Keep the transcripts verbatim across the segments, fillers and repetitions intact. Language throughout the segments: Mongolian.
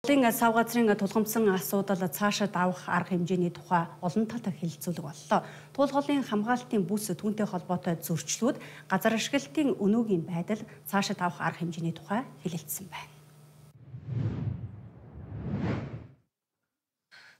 Монголын сав газрын тулгамдсан асуудал цаашид авах арга хэмжээний тухай олон талаар хэлэлцүүлэг боллоо. Туулгын хамгаалтын бүс түүнтэй холбоотой зөрчлүүд, газар ашиглалтын өнөөгийн байдал, цаашид авах арга хэмжээний тухай хэлэлцсэн байна.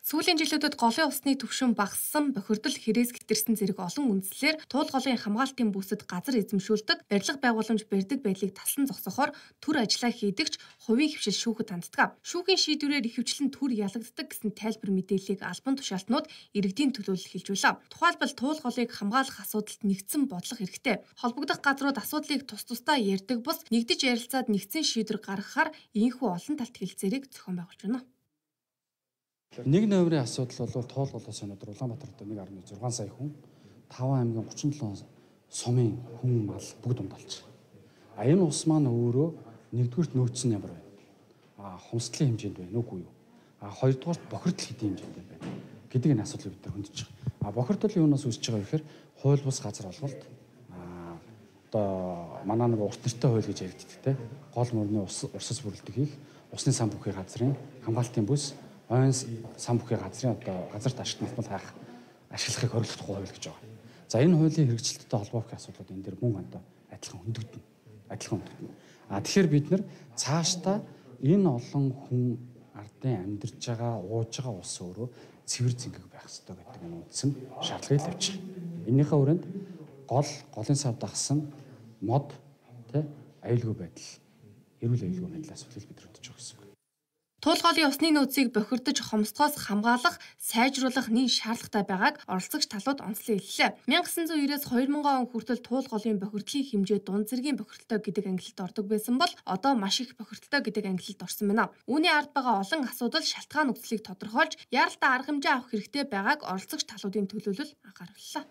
Сүүлийн жилүүдэд голын усны түвшин багассан, бохирдол хэрэгс гэтэрсэн зэрэг олон үндслээр туулгын хамгаалтын бүсэд газар эзэмшүүлдэг, барилга байгууламж барьдаг байдлыг талсан зогсохоор төр ажиллаа хийдэгч хувийн хвшил шүүхэд ханддаг. Шүүхийн шийдвэрээр ихэвчлэн төр ялагддаг гэсэн тайлбар мэдээллийг албан тушаалтнууд иргэдийн төлөөлөл хэлж байлаа. Тухайлбал туулгыг хамгаалах асуудалд нэгдсэн бодлого хэрэгтэй. Холбогдох газрууд асуудлыг тус тусдаа ярьдаг бус нэгдэж ярилцаад нэгдсэн шийдвэр гаргахаар ийхүү олон талт хэлцээрийг зохион байгуулж байна. Нэг номерын асуудал бол тоолголоос өнөөдөр Улаанбаатарт нэг гаруй зургаан сая хүн, таван аймгийн гучин долоо сумын хүн мал бүгд ундалж. А энэ ус маань өөрөө нэгдүгürt нөөцсөн ямар байна? А хумсдлын хэмжээнд байна үгүй юу? А хоёрдугаарт бохирдол хэдийн хэмжээнд байна гэдэг энэ асуудлыг бид нар хөндөж байгаа. А бохирдол юунаас үүсэж байгаа вэ гэхээр хууль бус газар олголт. А одоо манай нэг урт нэртэй хууль гэж яригддаг те. Гол мөрний ус урсас бүрэлдэх хийх, усны сан бүхий газрын хамгаалтын бүс ойн сан бүхий газрын одоо газарт ашиглах хайх ашиглахыг хориглох хууль гэж байгаа. За энэ хуулийн хэрэгжилттэй холбоох асуудлууд энэ дэр мөн одоо адилхан хөндөгдөн. Адилхан хөндөгдөн. А тэгэхээр бид нар цаашдаа энэ олон хүн ардын амьдарч байгаа, ууж байгаа ус өөрөө цэвэр зингэг байх ёстой гэдэг энэ үндсэн шаардлагыг тавьж байгаа. Энийхээ хүрээнд гол голын сав дагсан мод тэ аюулгүй байдал, эрүүл аюулгүй байдлын асуудлыг бид хөдөж байгаа гэсэн үг. Туулгын усны нөөцийг бохирдож хомсдгоос хамгаалах, сайжруулах нэн шаардлагатай байгааг оролцогч талууд онцлон хэллээ. мянга гэсэн зуун наймаас хоёр мянган он хүртэл туулгын бохирдлын хэмжээ дунд зэргийн бохирдолтой гэдэг ангилалд ордог байсан бол одоо маш их бохирдолтой гэдэг ангилалд орсон байна. Үүний ард байгаа олон асуудал шалтгаан нөхцөлийг тодорхойлж, яаралтай арга хэмжээ авах хэрэгтэй байгааг оролцогч талуудын төлөөлөл анхаарууллаа.